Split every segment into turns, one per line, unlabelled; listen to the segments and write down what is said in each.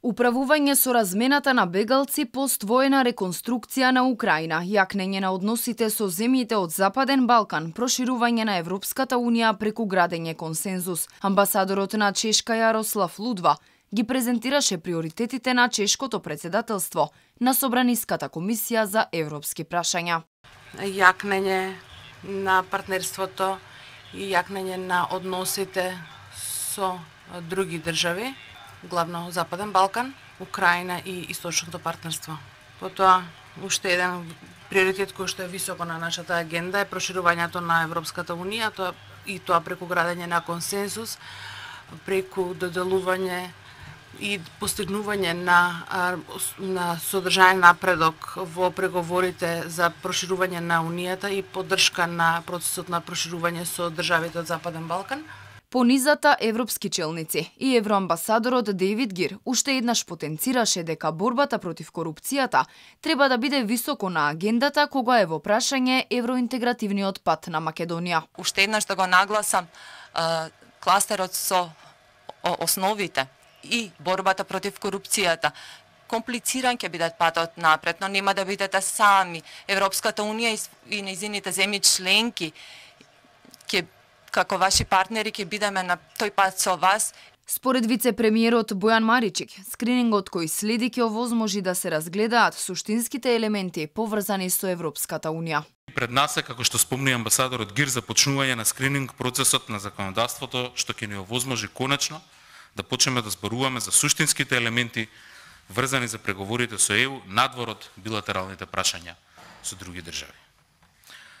Управување со размената на бегалци пост воена реконструкција на Украина, јакнење на односите со земјите од Западен Балкан, проширување на Европската Унија преку градење консензус. Амбасадорот на Чешка Јарослав Лудва ги презентираше приоритетите на чешкото председателство на Собраниската комисија за европски прашања.
Јакнење на партнерството и јакнење на односите со други држави, главно Западен Балкан, Украина и Источното партнерство. Потоа, уште еден приоритет кој што е високо на нашата агенда е проширувањето на Европската Унија, тоа преку градење на консензус, преку доделување и постигнување на содржаен напредок во преговорите за проширување на Унијата и поддршка на процесот на проширување со државите од Западен Балкан.
Понизата европски челници и евроамбасадорот Дейвид Гир уште еднаш потенцираше дека борбата против корупцијата треба да биде високо на агендата кога е во прашање евроинтегративниот пат на Македонија.
Уште еднаш да го нагласам кластерот со основите и борбата против корупцијата. Комплициран ќе биде патот напред, но нема да бидете сами. Европската Унија и нејзините земји членки ќе како ваши партнери ќе бидеме на тој пат со вас.
Според вице-премиерот Бојан Маричик, скринингот кој следи ќе овозможи да се разгледаат суштинските елементи поврзани со Европската Унија.
Пред нас е, како што спомни амбасадорот Гир, започнување на скрининг процесот на законодавството, што ќе ни овозможи конечно да почнеме да зборуваме за суштинските елементи врзани за преговорите со ЕУ надвор од билатералните прашања со други држави.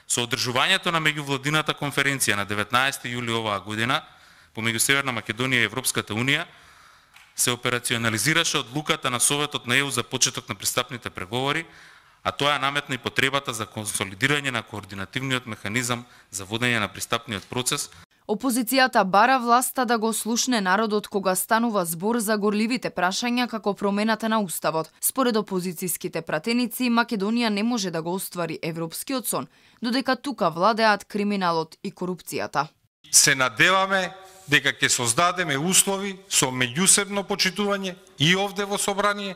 Со одржувањето на меѓувладината конференција на 19 јули оваа година помеѓу Северна Македонија и Европската Унија се операционализираше одлуката на Советот на ЕУ за почеток на пристапните преговори, а тоа наметна и потребата за консолидирање на координативниот механизам за водење на пристапниот процес.
Опозицијата бара власта да го слушне народот кога станува збор за горливите прашања како промената на уставот. Според опозицијските пратеници, Македонија не може да го оствари европскиот сон, додека тука владеат криминалот и корупцијата.
Се надеваме дека ќе создадеме услови со меѓусебно почитување и овде во собрание,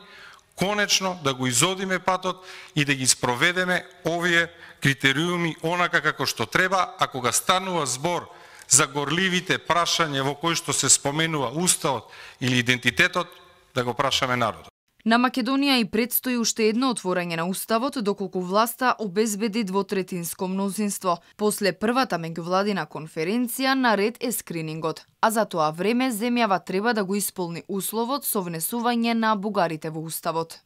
конечно да го изодиме патот и да ги спроведеме овие критериуми онака како што треба, а кога станува збор за горливите прашања во кои што се споменува уставот или идентитетот, да го прашаме народот.
На Македонија и предстои уште едно отворање на уставот доколку власта обезбеди двотретинско мнозинство. После првата меѓувладина конференција наред е скринингот, а за тоа време земјава треба да го исполни условот со внесување на бугарите во уставот.